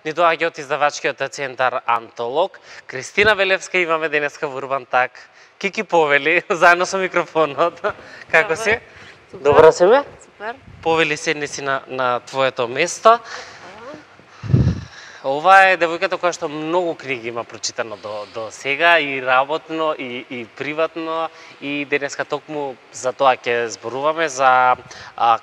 ни доаѓа од издавачкиот центар Антолог. Кристина Велевска имаме денеска во Урбан Так. Кики повели, заедно со микрофонот. Како си? Добро си ме? Супер. Повели, седни си на твоето место. Ова е девојката која што многу книги има прочитано до сега, и работно, и приватно, и денеска токму за тоа ќе зборуваме, за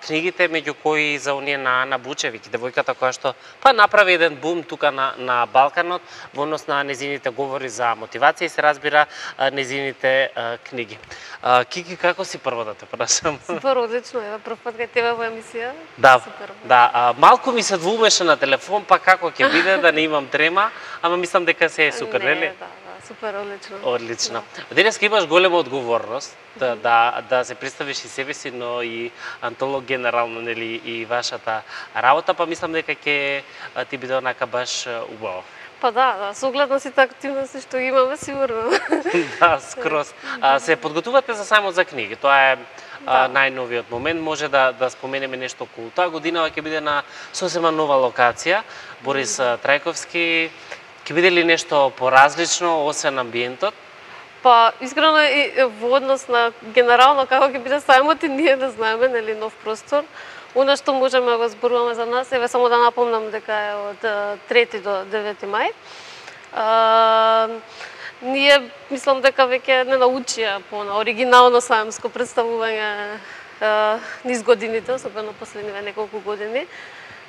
книгите, меѓу кои за оние на Ана Бучевик, девојката која што направи еден бум тука на Балканот, во однос на незините говори за мотивација и се разбира незините книги. Кики, како си прво да те прашам? Супер, одлично, ева прв пат кај тебе во емисија. Да, супер. Да, малку ми се двумеше на телефон, па како ќе биде, да не имам трема, ама мислам дека се е супер, нели? Да, супер, одлично. Одлично. Денеска имаш голема одговорност да се представиш и себе си, но и Антолог генерално, нели, и вашата работа, па мислам дека ќе ти биде онака баш убаво. Па да, со оглед на сите активности што имаме, сигурно. Да, скроз. Се подготувате за самот за книги, тоа е најновиот момент. Може да споменеме нешто околу тоа. Годинава ќе биде на сосема нова локација, Борис Трајковски. Ќе биде ли нешто поразлично, освен амбиентот? Па, искрено и во однос на генерално како ќе биде сајмот, и ние да знаеме, нели, нов простор. Оно што можеме да го зборуваме за нас, еве само да напомнам дека е од 3 до 9 мај. Ние мислам дека веќе не научија по оригинално сајмско представување низ годините, особено последниве неколку години.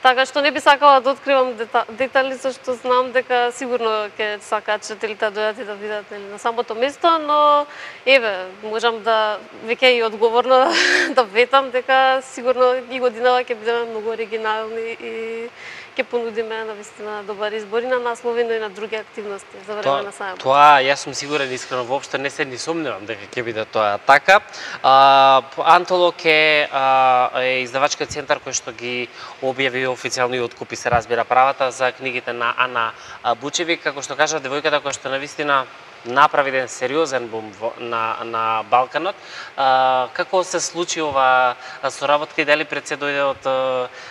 Така што не би сакала да откривам детали, зашто знам дека сигурно ќе сакаат читателите да дојдат и да видат, нели, на самото место, но еве, можам да веќе и одговорно да ветам дека сигурно и годинава ќе бидеме многу оригинални и ќе понудиме навистина добар избор и на наслови, но и на други активности за време на сајмот. Тоа јас сум сигурен, искрено воопшто не се ни сомневам дека ќе биде тоа така. Антолог е издавачкиот центар кој што ги објави официјално и откупи, се разбира, правата за книгите на Ана Бучевик, како што кажа девојката која што навистина направи еден сериозен бум на Балканот. Како се случи ова соработка и дали пред се дојде од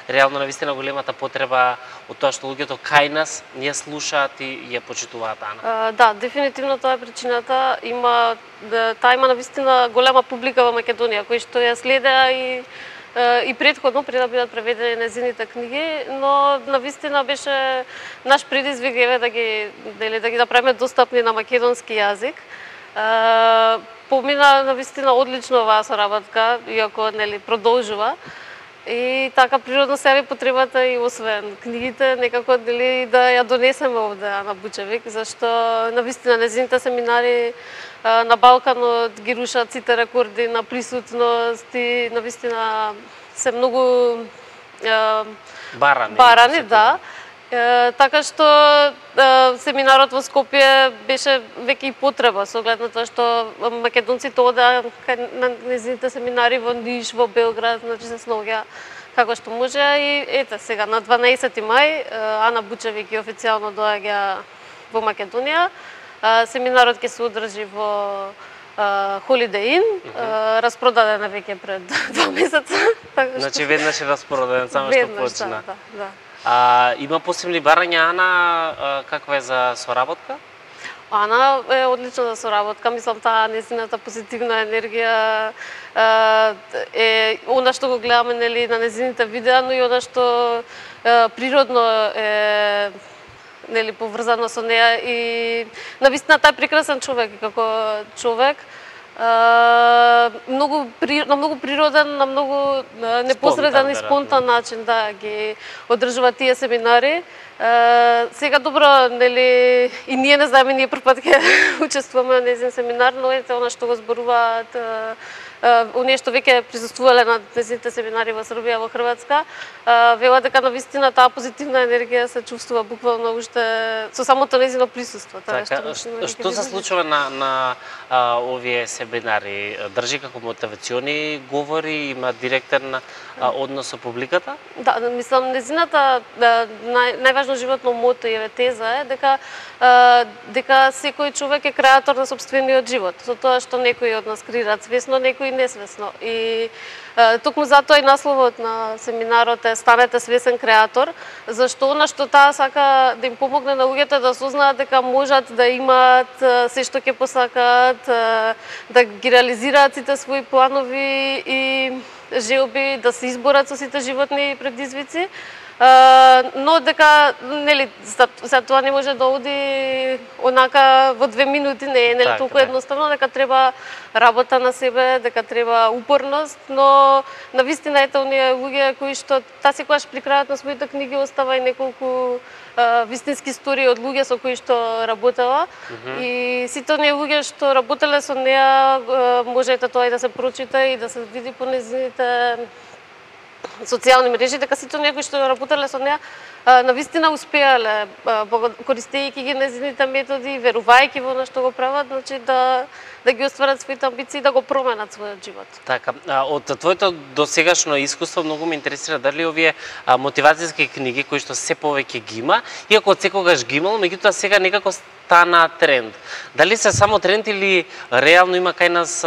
реално навистина големата потреба од тоа што луѓето кај нас ние слушаат и ја почитуваат Ана? Да, дефинитивно тоа е причината. Таа има навистина голема публика во Македонија кои што ја следеа и претходно, пред да бидат преведени незините книги, но навистина беше наш предизвик еве да ги направиме достапни на македонски јазик. Помина навистина одлично оваа соработка, иако, нели, продолжува. И така природно се јави потребата и освен книгите, некако, нели, да ја донесеме овде Ана Бучевик, зашто навистина незините семинари на Балканот ги рушат сите рекорди на присутност и навистина се многу барани, да. Така што семинарот во Скопје беше веќе и потреба, со оглед на тоа што македонците одеа на незините семинари во Ниш, во Белград, значи се снаоѓа како што може. И ете сега на 12 мај Ана Бучевик официјално доаѓа во Македонија. Семинарот ќе се одржи во Holiday Inn, распродаден е веќе пред 2 месеца. Значи веднаш е распродаден, само што почна. Да. Има посебни барања Ана, каква е за соработка? Ана е одлична за соработка, мислам таа незината позитивна енергија е она што го гледаме, нели, на незините видеа, но и она што природно е, нели, поврзано со неа и навистина таа е прекрасен човек како човек. На многу природен, на многу непосреден и спонтан начин ги одржува тие семинари. Сега добро, нели, и ние не знаеме, ние прв пат ќе учествуваме на незин семинар, но ете она што го зборуваат оние што веќе присуствувале на незините семинари во Србија, во Хрватска, велат дека навистина таа позитивна енергија се чувствува буквално уште со самото незино присуство. Што се случува на овие семинари? Држи како мотивациони говори, има директен однос со публиката? Да, мислам, незината најважно животно мото и теза е дека секој човек е креатор на сопствениот живот. Со тоа што некои од нас креираат свесно, некои и несвесно. И токму затоа и насловот на семинарот е "Станете свесен креатор", зашто она што таа сака да им помогне на луѓето да сознаат дека можат да имаат се што ќе посакаат, да ги реализираат сите своји планови и желби, да се изборат со сите животни предизвици. Но дека нели за тоа не може да оди онака во 2 минути, не е нели толку едноставно, дека треба работа на себе, дека треба упорност, но навистина ете оние луѓе кои што таа секогаш при крајот на своите книги остава и неколку вистински истории од луѓе со кои што работела и сите оние луѓе што работеле со неа можете тоа и да се прочита и да се види по нејзините социјални мрежи, дека сите оние кои што работеле со неа навистина успеале, користејќи ги нејзините методи, верувајќи во она што го прават, значи да ги остварат своите амбиции, да го променат својот живот. Така, од твоето досегашно искуство многу ме интересира дали овие мотивацијски книги кои што се повеќе ги има, иако од секогаш ги имало, меѓутоа сега некако стана тренд. Дали се само тренд или реално има кај нас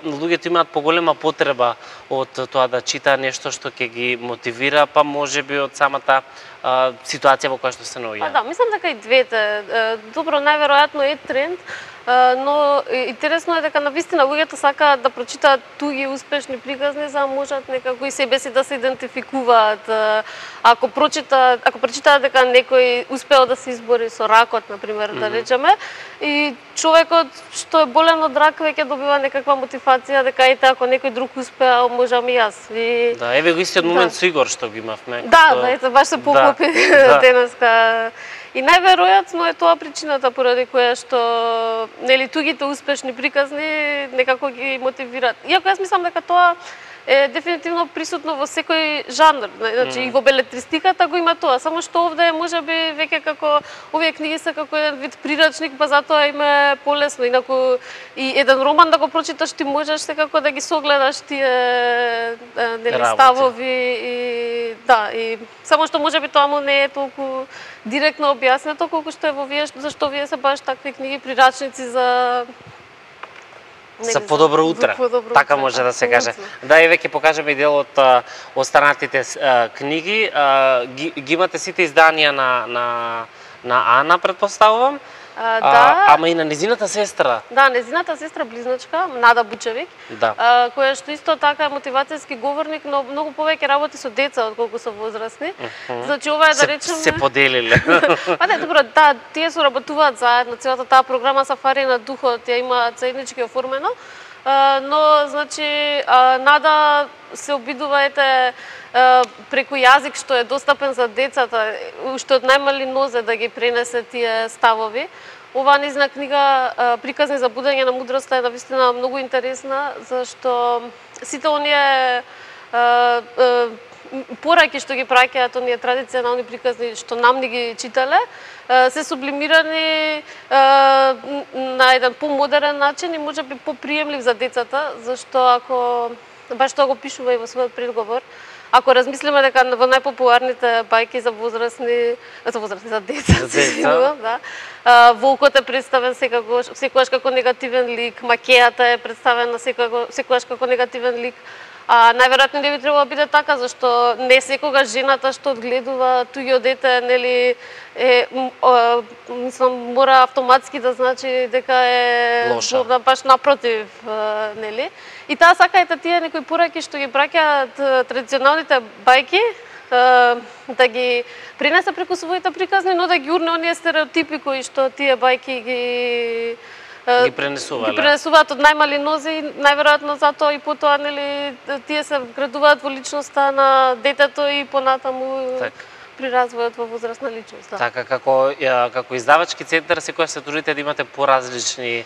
луѓето имаат поголема потреба од тоа да чита нешто што ќе ги мотивира, па можеби од самата ситуација во која што се наоѓаат? Да, мислам дека и двете. Добро, најверојатно е тренд, но интересно е дека навистина луѓето сакаат да прочитаат туги успешни приказни за да можат некако и себе си да се идентификуваат. Ако прочитаат дека некој успеал да се избори со ракот, например, да речеме, и човекот што е болен од рак веќе добива некаква мотивација дека ете ако некој друг успеал, можам и јас. И да, еве го истиот момент со Игор што го имавме. Да, ете баш се поклопи денеска. И најверојатно е тоа причината поради која што нели тугите успешни приказни некако ги мотивираат. Иако јас мислам дека тоа е дефинитивно присутно во секој жанр, значи и во белетристиката го има тоа, само што овде можеби веќе како овие книги се како еден вид прирачник, па затоа им е полесно, инаку и еден роман да го прочиташ ти можеш секако да ги согледаш тие нели ставови и да, и само што можеби тоа му не е толку директно објаснето колку што е во вие, зашто вие се баш такви книги прирачници за подобро утре, така може да се каже. Да, еве ќе покажеме и дел од останатите книги. Ги имате сите изданија на Ана, предпоставувам. Да. Ама и на незината сестра. Да, незината сестра близначка, Нада Бучевик, која што исто така е мотивацијски говорник, но многу повеќе работи со деца отколку со возрастни. Значи ова е да речеме се поделиле. Па не, добро, тие соработуваат заедно, целата таа програма Сафари на духот ја имаат заеднички оформено. Но значи Нада се обидува преку јазик што е достапен за децата, уште од најмали нозе да ги пренесе тие ставови. Оваа низна книга Приказни за будење на мудроста е навистина многу интересна, зашто сите оние пораки што ги праќаат оние традиционални приказни што нам ни ги читале, се сублимирани на еден помодерен начин и можеби поприемлив за децата, зашто ако баш тоа го пишува и во својот предговор, ако размислиме дека во најпопуларните бајки за деца, да, волкот е представен секогаш како негативен лик, макејата е представена секогаш како негативен лик. Најверојатно не би требало да биде така, зашто не секогаш жената што одгледува туѓо дете, нели, мислам, мора автоматски да значи дека е лоша. Баш напротив, нели. И таа сака тие некои пораки што ги праќаат традиционалните бајки, да ги пренесе преку своите приказни, но да ги урне оние стереотипи кои што тие бајки ги пренесуваат од најмали нози, најверојатно затоа и потоа нели тие се вградуваат во личноста на детето и понатаму при развојот во возрастна личност. Да. Така, како издавачки центар секогаш се трудите да имате поразлични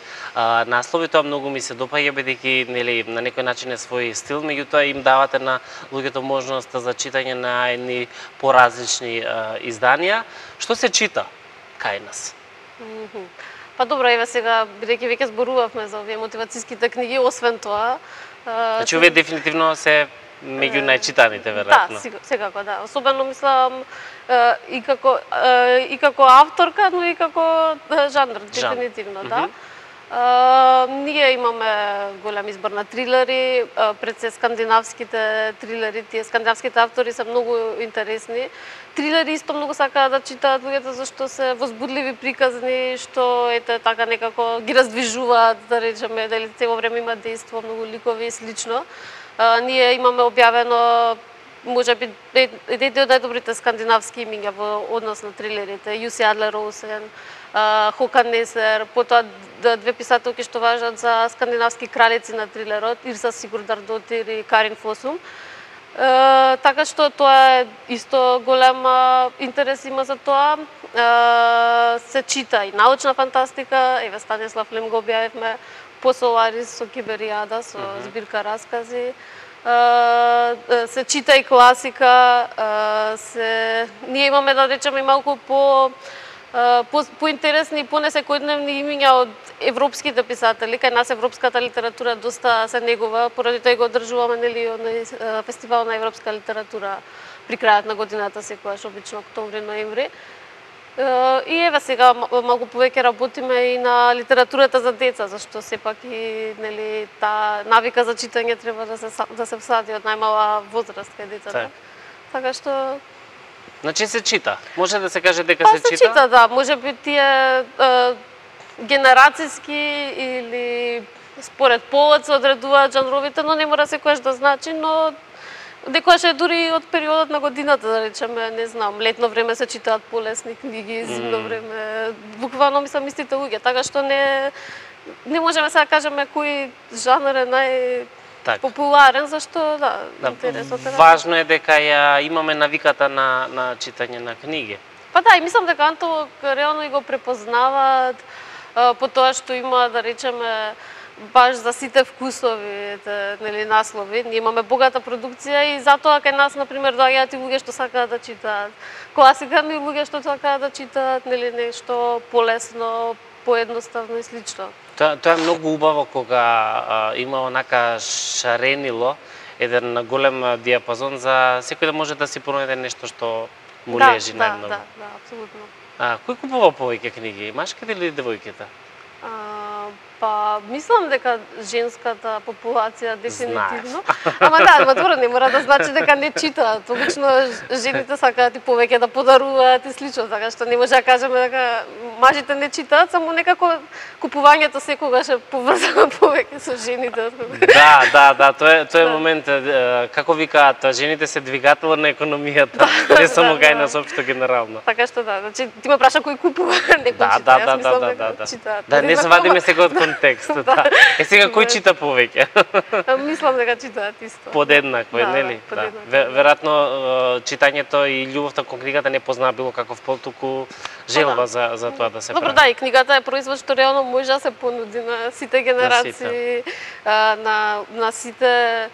наслови, тоа многу ми се допаѓа бидејќи нели на некој начин е свој стил, меѓутоа им давате на луѓето можност за читање на едни поразлични изданија. Што се чита кај нас? Па добро, еве сега, бидејќи веќе зборувавме за овие мотивацијските книги, освен тоа... Значи, овие дефинитивно се меѓу најчитаните, веројатно. Да, секако, да. Особено, мислам, и како авторка, но и како жанр, дефинитивно, да. Ние имаме голем избор на трилери, пред се скандинавските трилери, тие скандинавските автори се многу интересни. Трилери исто многу сакаат да читаат луѓето зашто се возбудливи приказни, што ете така некако ги раздвижуваат, да речеме, дали цело време има дејство, многу ликови и слично. Ние имаме објавено можеби едните од најдобрите скандинавски имиња во однос на трилерите, Јуси Адлер Олсен, Хокан Несер, потоа две писателки што важат за скандинавски кралици на трилерот, Ирса Сигурдардотир и Карин Фосум. Така што тоа е исто голем интерес има за тоа. Се чита и научна фантастика, еве Станислав Лем го објавивме, по Соларис со Киберијада, со збирка раскази. Се чита и класика, ние имаме да речеме малку поинтересни и понесекојдневни имиња од европските писатели. Кај нас европската литература доста се негува, поради тоа го одржуваме нели на фестивал на европска литература при крајот на годината, секогаш обично октомври-ноември. И еве сега малку повеќе работиме и на литературата за деца, зашто сепак и нели таа навика за читање треба да се всади од најмала возраст кај децата. Така што значи се чита. Може да се каже дека се чита? Се чита, да. Можеби тие генерацијски или според полот се одредуваат жанровите, но не мора секогаш да значи, но некогаш е дури од периодот на годината, да речеме, не знам, летно време се читаат полесни книги, зимно време, буквално мислам истите луѓе, така што не можеме сега да кажеме кој жанр е популарен, зашто интересот е. Важно е дека ја имаме навиката на читање на книги. Па да, и мислам дека Антолог реално и го препознаваат по тоа што има, да речеме, баш за сите вкусови, нели, наслови. Ние имаме богата продукција и затоа кај нас, например, доаѓаат и луѓе што сакаат да читаат класика, но и луѓе што сакаат да читаат нели нешто полесно, поедноставно и слично. Тоа е многу убаво кога има онака шаренило, еден голем диапазон за секој да може да си пронајде нешто што му лежи најмногу. Да, апсолутно. Кој купува повеќе книги, машките или девојките? Па, мислам дека женската популација дефинитивно. Ама да, збор не мора да значи дека не читаат. Обично жените сакаат и повеќе да подаруваат и слично, така што не може да кажеме дека мажите не читаат, само некако купувањето секогаш е поврзано повеќе со жените. Да, тоа е момент, како викаат, жените се двигател на економијата, не само кај нас општо генерално. Така што да, значи ти ме праша кој купува, некој чита, јас мислам дека читаат. Да, не свадиме сега од контекст, да. Сега кој чита повеќе? Мислам дека читаат исто. Подеднакво, нели? Веројатно читањето и љубовта кон книгата не познаа било каков пол, туку желба за тоа да се прави. Добро, да, и книгата е производ што реално може да се понуди на сите генерации, на сите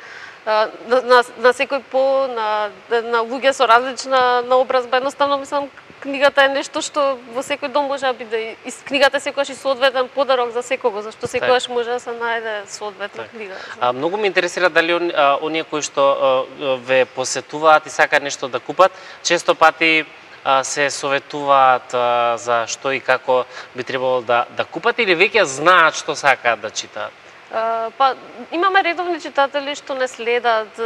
на секој пол, на луѓе со различна наобразба. Едноставно мислам книгата е нешто што во секој дом може да биде. Книгата е секогаш и соодветен подарок за секого, зашто секогаш може да се најде соодветна книга. Многу ме интересира дали оние кои што ве посетуваат и сакаат нешто да купат, често пати се советуваат за што и како би требало да купат или веќе знаат што сакаат да читаат? Па, имаме редовни читатели што не следат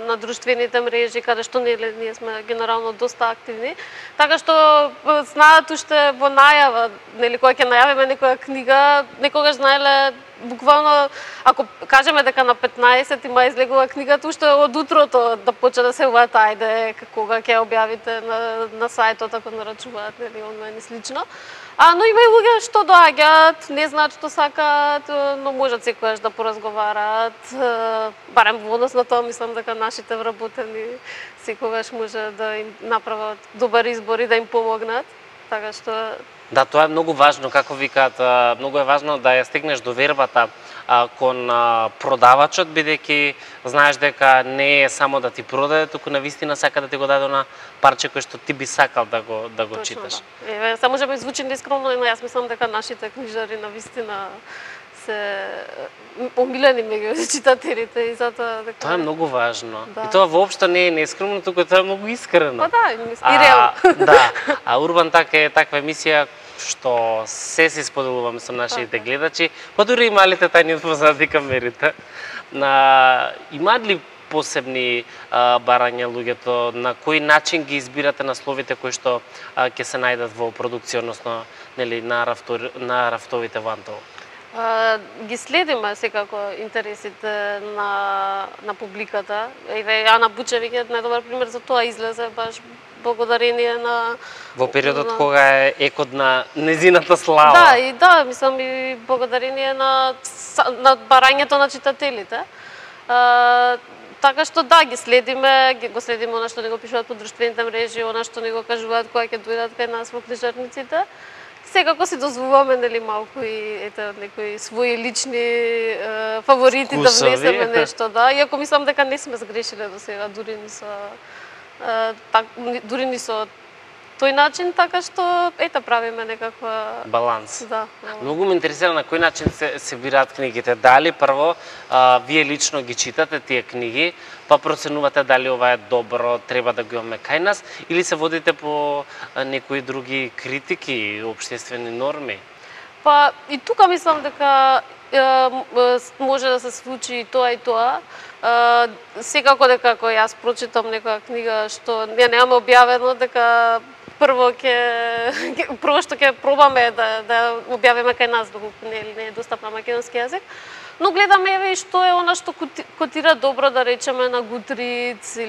на друштвените мрежи, каде што ние сме генерално доста активни, така што знаат уште во најава, нели, кога ќе најавиме некоја книга, некогаш знаеле буквално, ако кажеме дека на 15 има излегува книгата, уште од утрото да почне да се уват, ајде, кога ќе објавите на сајтот, ако нарачуваат, нели, онлайн и слично. Но има и луѓе што доаѓаат, не знаат што сакаат, но можат секогаш да поразговараат. Барем во однос на тоа, мислам дека нашите вработени секогаш може да им направат добар избор и да им помогнат. Така што да, тоа е многу важно, како викаат, многу е важно да ја стигнеш довербата кон продавачот, бидејќи знаеш дека не е само да ти продаде, туку навистина сака да ти го даде на парче кој што ти би сакал да го читаш. Да. Еве, само може би звучи нескромно, но јас мислам дека нашите книжари навистина се омилени меѓу читателите и затоа дека тоа е многу важно. Да. И тоа воопшто не е нескромно, туку тоа е многу искрено. Па да, и реално. Да. Урбан Так е таква емисија што се си споделуваме со нашите гледачи, па дури и малите тајни позади камерите. Имаат ли посебни барања луѓето, на кој начин ги избирате насловите кои што ќе се најдат во продукција, односно нели на рафтовите во Антоло? Ги следиме секако интересите на публиката. Еве Ана Бучевиќ е најдобар пример за тоа, излезе баш благодарение на во периодот кога е екот на незината слава. Да, мислам и благодарение на барањето на читателите. Така што да, ги следиме она што не го пишуваат по друштвените мрежи, она што не го кажуваат кога ќе дојдат кај нас во книжарниците. Секако си дозволуваме нели малку и некои своји лични фаворити да внесеме нешто, да. Иако мислам дека не сме сгрешиле до сега, дури ни со тој начин, така што правиме некаква баланс. Да. Многу ме интересира на кој начин се бираат книгите. Дали прво вие лично ги читате тие книги, па проценувате дали ова е добро, треба да го имаме кај нас, или се водите по некои други критики, општествени норми? Па и тука мислам дека може да се случи и тоа. Секако дека кога јас прочитам некоја книга што ја немаме објавено, дека прво што ќе пробаме да објавиме кај нас, доколку не е достапна македонски јазик. Но гледаме еве и што е она што котира добро, да речеме на Goodreads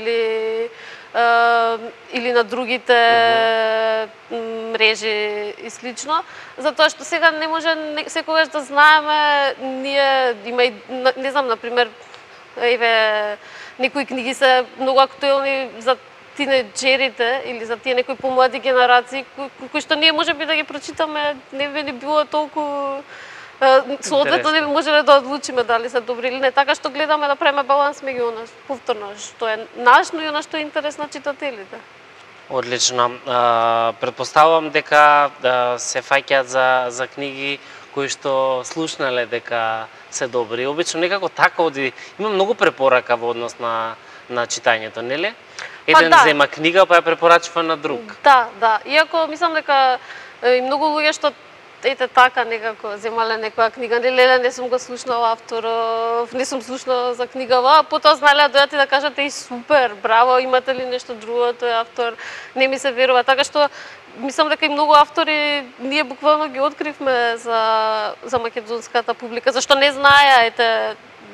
или на другите мрежи и слично, затоа што сега не може секогаш да знаеме, ние има и не знам, например, еве некои книги се многу актуелни за тинеџерите или за тие некои помлади генерации кои што ние можеби да ги прочитаме, не би ни било толку соодветно не би можеле да одлучиме дали се добри или не, така што гледаме да правиме баланс меѓу она повторно што е наш, но и она што е интерес на читателите. Одлично. Претпоставувам дека се фаќаат за книги кои што слушнале дека се добри. Обично некако така оди, има многу препорака во однос на читањето, нели? Еден зема книга па ја препорачува на друг. Да. Иако мислам дека и многу луѓе што така некако земале некоја книга, не сум го слушнала авторов, не сум слушнала за книгава, а потоа знаеле да дојдат и да кажат супер, браво, имате ли нешто друго, тој автор, не ми се верува, така што мислам дека и многу автори ние буквално ги откривме за македонската публика, зашто не знаеа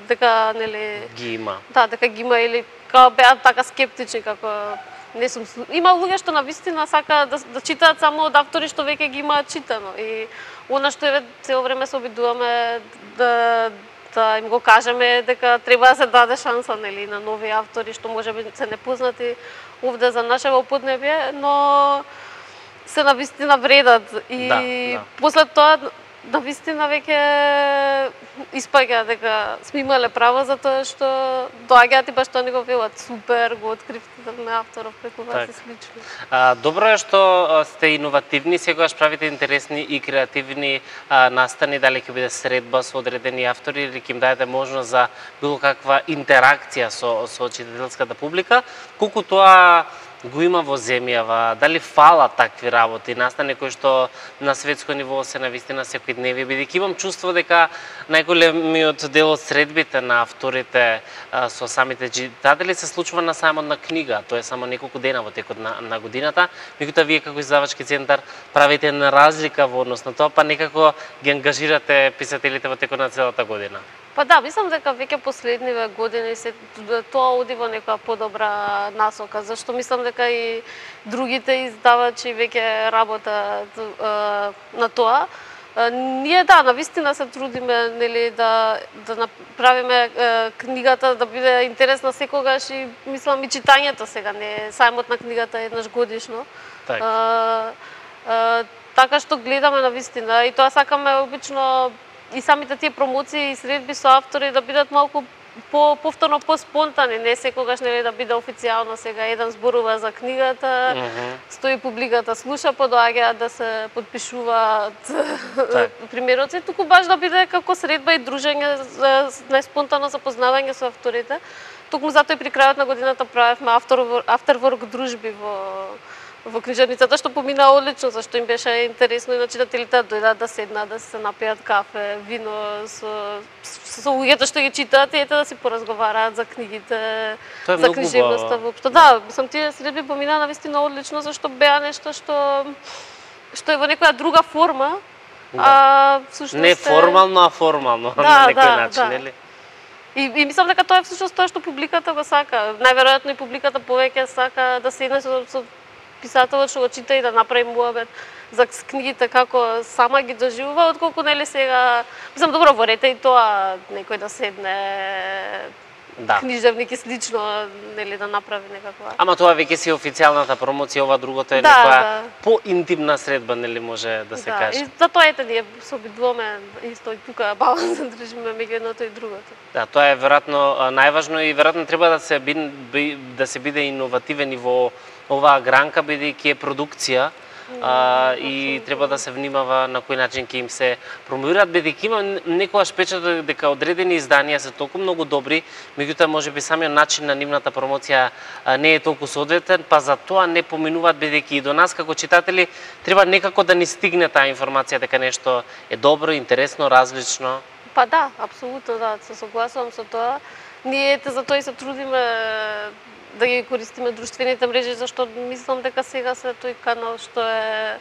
дека нели ги има. Да, дека ги има или као беа така скептични како не сум има луѓе што навистина сака да читаат само од автори што веќе ги имаат читано и она што еве цело време се обидуваме да им го кажеме дека треба да се даде шанса нели на нови автори што можеби се непознати овде за нашево поднебје, но се навистина вредат и после тоа навистина веќе испаѓа дека сме имале право затоа што доаѓаат и баш тоа не го велат. Супер, го откривте на авторов преку вас и слично. Добро е што сте иновативни, секогаш правите интересни и креативни настани, дали ќе биде средба со одредени автори или ќе им дајете можност за било каква интеракција со читателската публика, колку тоа го има во земјава, дали фала такви работи, настани кои што на светско ниво се навистина секојдневие, бидејќи имам чувство дека најголемиот дел од средбите на авторите со самите читатели се случува на самот на книга, тоа е само неколку дена во текот на годината, меѓутоа вие како издавачки центар правите една разлика во однос на тоа, па некако ги ангажирате писателите во текот на целата година. Па да, мислам дека веќе последниве години тоа оди во некоја подобра насока, зашто мислам дека и другите издавачи веќе работат на тоа. Ние навистина се трудиме нели да направиме книгата да биде интересна секогаш и мислам и читањето сега не сајмот на книгата еднаш годишно. Така што гледаме навистина и тоа сакаме обично и самите тие промоции и средби со автори да бидат малку повторно поспонтани, не секогаш нели да биде официјално сега еден зборува за книгата, стои публиката слуша, подоаѓаат да се подпишуваат примероци, туку баш да биде како средба и дружење за најспонтано запознавање со авторите. Токму затоа и при крајот на годината правевме afterwork дружби во книжарницата, што помина одлично, зашто им беше интересно и на читателите да дојдат да седнат, да се напијат кафе, вино со луѓето што ги читаат и ете да си поразговараат за книгите, за книжевноста воопшто. Да, мислам тие средби помина навистина одлично, зашто беа нешто што е во некоја друга форма, всушност не формално, а формално на некој начин, нели? И мислам дека тоа е всушност тоа што публиката го сака. Најверојатно и публиката повеќе сака да седне со писателот што го чита и да направи муабет за книгите како сама ги доживува, отколку нели сега, мислам добро во ред и тоа некој да седне книжевник и слично, нели да направи некаква. Ама тоа веќе си официјалната промоција, ова другото е некоја поинтимна средба, нели може да се каже. И за тоа ете ние се обидуваме исто и тука баланс да држиме меѓу едното и другото. Да, тоа е веројатно најважно и веројатно треба да се биде иновативен и во оваа гранка, бидејќи е продукција. И треба да се внимава на кој начин ќе им се промовираат, бидејќи има некогаш печатот дека одредени изданија се толку многу добри, меѓутоа можеби самиот начин на нивната промоција не е толку соодветен, па за тоа не поминуваат, бидејќи и до нас како читатели треба некако да ни стигне таа информација дека нешто е добро, интересно, различно. Па да, апсолутно да, се согласувам со тоа. Ние за тоа и се трудиме да ги користиме друштвените мрежи, зашто мислам дека сега се тој канал што е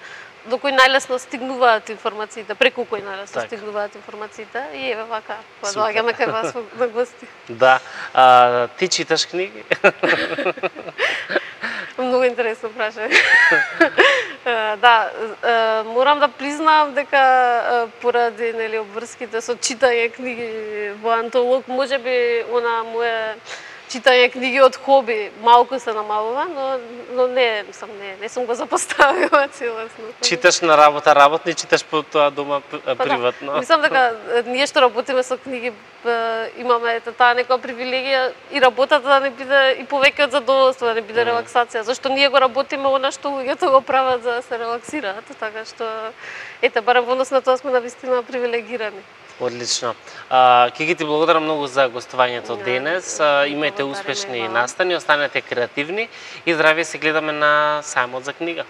до кој најлесно стигнуваат информациите, преку кој најлесно стигнуваат информациите и еве вака, доаѓаме кај вас на гости. Да, ти читаш книги? Многу интересно прашање. Да, морам да признам дека поради нели обврските со читање книги во антолог, можеби она мое читање книги од хоби малку се намалува, но не сум го запоставила целосно. Читаш на работа работно и читаш по тоа дома приватно. Да. Мислам дека ние што работиме со книги имаме таа некоја привилегија и работата да не биде и повеќе од задоволство, да не биде релаксација, зашто ние го работиме она што луѓето го прават за да се релаксираат, така што ете барем во однос на тоа сме навистина привилегирани. Одлично. Ќе ги ти благодарам многу за гостувањето денес. Имајте успешни настани, останете креативни и здравје, се гледаме на сајмот за книга.